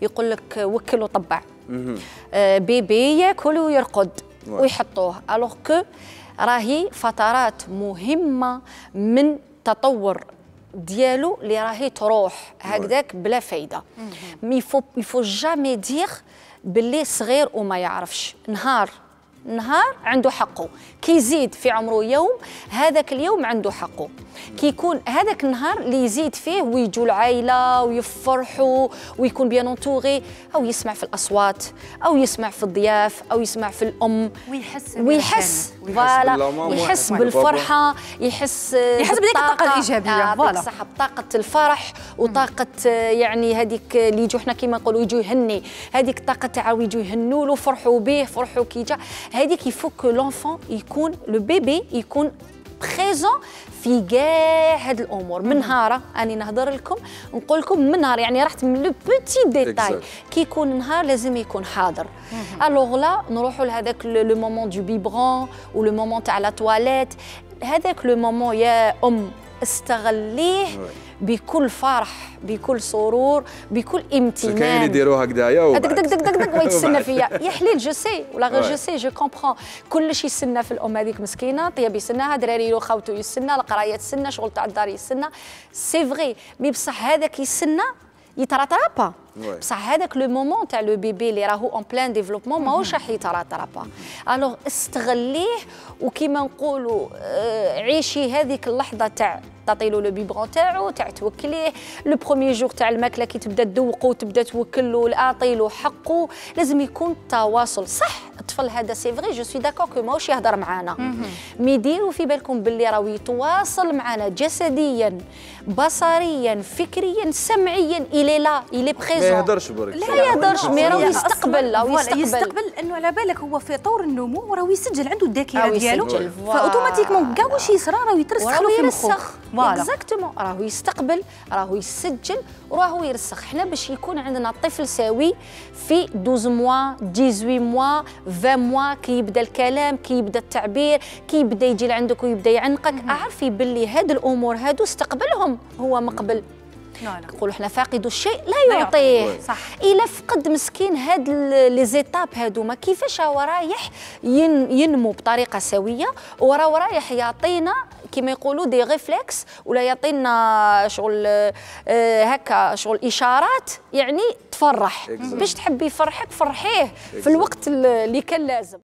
يقول لك وكل وطبع. بيبي ياكل ويرقد ويحطوه، الوغ كو راهي فترات مهمه من تطور ديالو اللي راهي تروح هكذاك بلا فايده. يفو جامي دير باللي صغير وما يعرفش. نهار عنده حقه، كي يزيد في عمره يوم هذاك اليوم عنده حقه، كي يكون هذاك النهار اللي يزيد فيه ويجوا العائله ويفرحوا ويكون بيان انتوري، او يسمع في الاصوات او يسمع في الضياف او يسمع في الام ويحس فوالا، يحس بالفرحه، يحس بديك الطاقه الايجابيه، فوالا صح، بطاقه الفرح وطاقه يعني هذيك اللي يجوا حنا كيما نقولوا يجوا يهني، هذيك الطاقه تاع يجوا يهنوا له، فرحوا به، فرحوا كي جا هذيك. يفو كو لونفون يكون لو بيبي يكون بريزون في كاع هاد الامور. من نهار اني نهضر لكم نقول لكم من نهار، يعني رحت من لو بوتي ديتاي كي يكون نهار لازم يكون حاضر. الوغ لا نروحوا لهذاك لو مومون دو بيبرون ولو مومون تاع لا تواليت. هذاك لو مومون يا استغليه بكل فرح، بكل سرور، بكل امتنان. كاين يديروها هكذايا دك دك دك دك ويتسنى فيا يا حليل. جو سي ولا غير جو سي جو كومبرون. كلشي يسنى في الام هذيك مسكينه، طياب يسناها، دراري له خاوتو يسنى، القرايه تسنى، شغل تاع الدار يسنى. سي فغي مي بصح هذاك يسنى يتراترابا. بصح هذاك لو مومون تاع لو بيبي اللي راهو اون بلان ديفلوبمون ماهوش راح يتراترابا. الوغ استغليه، وكيما نقولوا عيشي هذيك اللحظه تاع تعطيلو لو بيبرون تاعو، تاع توكليه. لو بروميي جور تاع الماكله كي تبدا تذوقو تبدا توكلو، اعطيلو حقه. لازم يكون تواصل. صح الطفل هذا سي فغي جو سوي داكور كو ماهوش يهضر معانا، مي ديروا في بالكم باللي راهو يتواصل معنا جسديا، بصريا، فكريا، سمعيا. الي لا الي بريزون، ما يهضرش برك، لا يهضرش، مي راهو يستقبل او يستقبل انه على بالك هو في طور النمو وراهو يسجل عنده الذاكره ديالو، فاوتوماتيكمون كاع واش يصرى راه يترسخ له في مخه. اكزاكتومون، راهو يستقبل، راهو يسجل وراهو يرسخ. حنا باش يكون عندنا طفل سوي في 12 موا 18 موا 20 موا كي يبدا الكلام، كي يبدا التعبير، كي يبدا يجي لعندك ويبدا يعنقك، اعرفي باللي هاد الامور هادو استقبلهم هو مقبل. نقولوا حنا فاقد الشيء لا يعطيه. صح. الا فقد مسكين هاد لي زيتاب هادوما كيفاش هو رايح ينمو بطريقه سويه، وراه رايح يعطينا كيما يقولوا دي ريفلكس، ولا يعطينا شغل هكا شغل اشارات يعني تفرح. باش تحبي يفرحك فرحيه في الوقت اللي كان لازم.